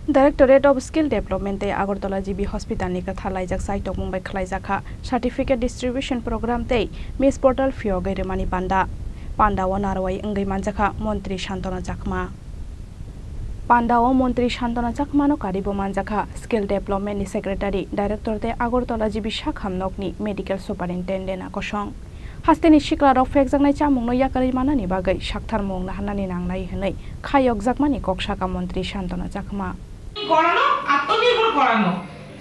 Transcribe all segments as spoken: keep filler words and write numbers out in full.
Directorate of Skill Development tei Agartala G B Hospital ni kwthar laijak chai tongmung bai khlaijakha Certificate Distribution Program tei Miss Portal phiyogwi rwmani panda. Panda o narwai wngwi manjakha Montri Santana Chakma. Panda o Montri Santana Chakma no karibo manjakha Skill Development ni Secretary, Director tei Agartala G B Sakham nok ni Medical Superintendent a kosong. Hasteni siklarok phekjaknai chamungno yakarwi manani bagwi saktharmung naharnani nangnai hwnwi khayokjakmani kok sakha Montri Santana Chakma. করানো, আত্মনির্ভর করানো।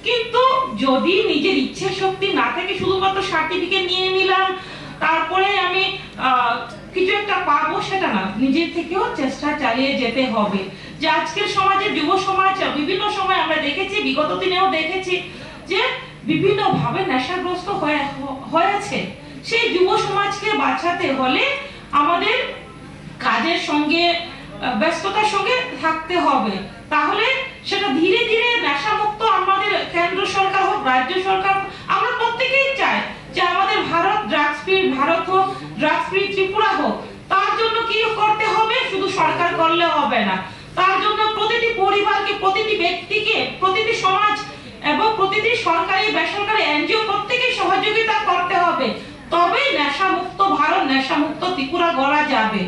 কিন্তু যদি নিজের ইচ্ছে শক্তি না থাকে, শুধুমাত্র সার্টিফিকেট নিয়ে নিলাম, তারপরে আমি আহ, কিছু একটা পাবো, সেটা না, নিজের থেকেও চেষ্টা চালিয়ে যেতে হবে। যে আজকের সমাজে, যুব সমাজ, বিভিন্ন সময় আমরা দেখেছি, বিগত দিনেও দেখেছি যে বিভিন্নভাবে নেশাগ্রস্ত হয়ে হয়েছে। সেই যুব সমাজকে বাঁচাতে হলে আমাদের কাজের সঙ্গে, আহ, ব্যস্ততার সঙ্গে থাকতে হবে। তাহলে সেটা ধীরে ধীরে নেশামুক্ত আমাদের কেন্দ্র সরকার হোক, রাজ্য সরকার হোক, আমরা প্রত্যেকেই চাই যে আমাদের ভারত ড্রাগস ফ্রি ভারত হোক, ড্রাগস ফ্রি ত্রিপুরা হোক। তার জন্য কি করতে হবে? শুধু সরকার করলে হবে না, তার জন্য প্রতিটি পরিবারকে, প্রতিটি ব্যক্তিকে, প্রতিটি সমাজ এবং প্রতিটি সরকারি বেসরকারি এনজিও প্রত্যেকেই সহযোগিতা করতে হবে। তবেই নেশামুক্ত ভারত, নেশামুক্ত ত্রিপুরা গড়া যাবে।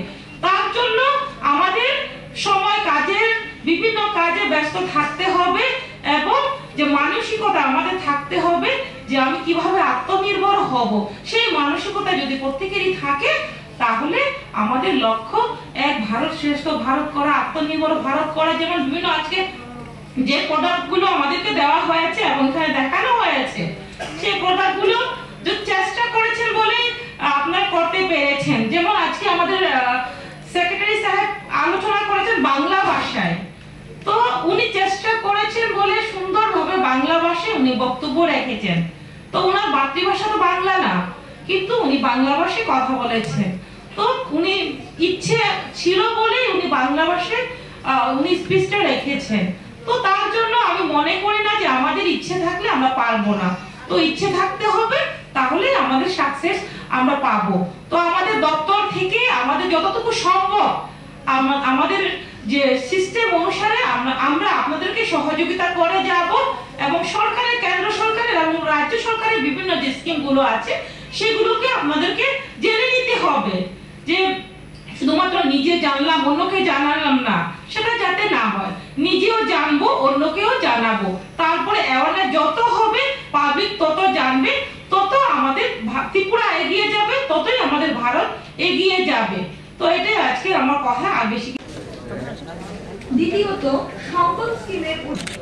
তার জন্য আমাদের সময় কাজের, বিভিন্ন কাজে ব্যস্ত থাকতে হবে এবং যে মানসিকতা আমাদের থাকতে হবে যে আমি কিভাবে আত্মনির্ভর হব, সেই মানসিকতা যদি প্রত্যেকেরই থাকে, তাহলে আমাদের লক্ষ্য এক ভারত শ্রেষ্ঠ ভারত করা, আত্মনির্ভর ভারত করা। যেমন বিভিন্ন আজকে যে প্রোডাক্টগুলো আমাদেরকে দেওয়া হয়েছে এবং এখানে দেখানো হয়েছে, সেই প্রোডাক্টগুলো যে চেষ্টা করেছেন বলেই আপনারা করতে পেরেছেন। যেমন আজকে আমাদের সেক্রেটারি সাহেব আলোচনা করেছেন বাংলা ভাষায়, তো উনি চেষ্টা করেছেন বলে সুন্দরভাবে বাংলা ভাষায় উনি বক্তব্য রেখেছেন। তো ওনার মাতৃভাষা তো বাংলা না, কিন্তু উনি বাংলা ভাষায় কথা বলেছেন। তো উনি ইচ্ছে ছিল বলেই উনি বাংলা ভাষায়, আহ, উনি স্পিচটা রেখেছেন। তো তার জন্য আমি মনে করি না যে আমাদের ইচ্ছে থাকলে আমরা পারবো না। তো ইচ্ছে থাকতে হবে, তাহলে আমাদের সাকসেস আমরা পাবো। তো আমাদের দপ্তর থেকে আমাদের যতটুকু সম্ভব আমা-, আমাদের যে সিস্টেম অনুসারে আমরা, আমরা আপনাদেরকে সহযোগিতা করে যাব এবং সরকারের, কেন্দ্র সরকারের এবং রাজ্য সরকারের বিভিন্ন যে স্কিমগুলো আছে সেগুলোকে আপনাদেরকে জেনে নিতে হবে। যে শুধুমাত্র নিজে জানলাম, অন্যকে জানালাম না, সেটা যাতে না হয়। নিজেও জানবো, অন্যকেও জানাবো। তারপরে অ্যাওয়ারনেস যত হবে, পাবলিক তত জানবে, তত আমাদের ভা-, ত্রিপুরা এগিয়ে যাবে, ততই আমাদের ভারত এগিয়ে যাবে। তো এটাই আজকের আমার কথা, আর বেশি কি-, দ্বিতীয়ত, সংকল্প স্কিমের উদ-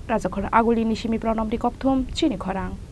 Rajakhor Aguli ni simi Pranam Rikokthum, chini khorang.